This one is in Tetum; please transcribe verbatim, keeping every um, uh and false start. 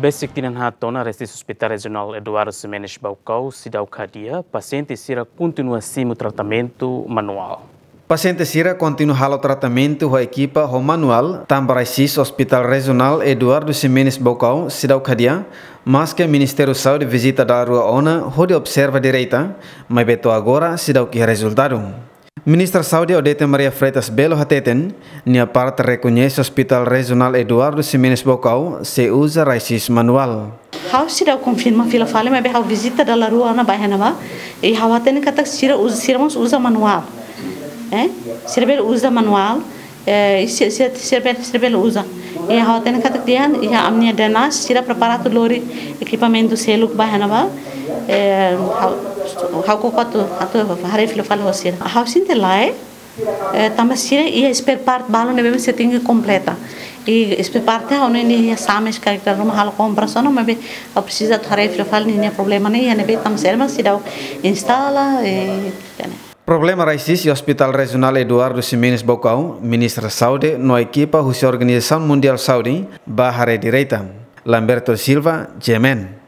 Besik tinan haat ona, RAICIS Hospital Rejionál Eduardo Ximenes Baucau seidauk hadi'a, pasiente sira kontinua simu tratamentu manuál. Pasiente sira kontinua halo tratamentu ho ekipa ho manuál, tanba RAICIS Hospital Rejionál Eduardo Ximenes Baucau seidauk hadi'a, maske Ministériu Saúde vizita dala rua ona hodi observa direta, maibé to'o agora seidauk iha rezultadu. Ministra Saúde Odete Maria Freitas Belo hateten, nia parte rekoñese Hospital Rejionál Eduardo Ximenes Baucau sei uza RAICIS manuál. Ha'u seidauk konfirma fila fali, maibé ha'u vizita dala rua ona ba iha ne'ebá. I ha'u hatene katak sira uza, sira mós uza manuál. Eh? Sira bele uza manuál. Eh, i sira, sira, sira bele, sira bele uza. I ha'u hatene katak tiha, iha ami-nia DNAS, sira prepara atu lori ekipamentu seluk ba iha ne'ebá. Eh, ha'u, ha'u koko atu, atu haree fila fali ho sira. Ha'u sente lae, eh, tanba sira iha spare part balu ne'ebé sira tenke kompleta. I spare part ha'u hanoin iha Sames karik dala ruma halo kompras ona, maibé ha'u presiza atu haree fila fali ninia problema ne'e iha ne'ebé, tanba sira mak seidauk instala, eh, ne'e. Problema RAICIS iha Hospital Rejionál Eduardo Ximenes Baucau, Ministra Saúde no ekipa husi Organizasaun Mundiál Saúde bá haree direta. Lamberto Silva, GMN.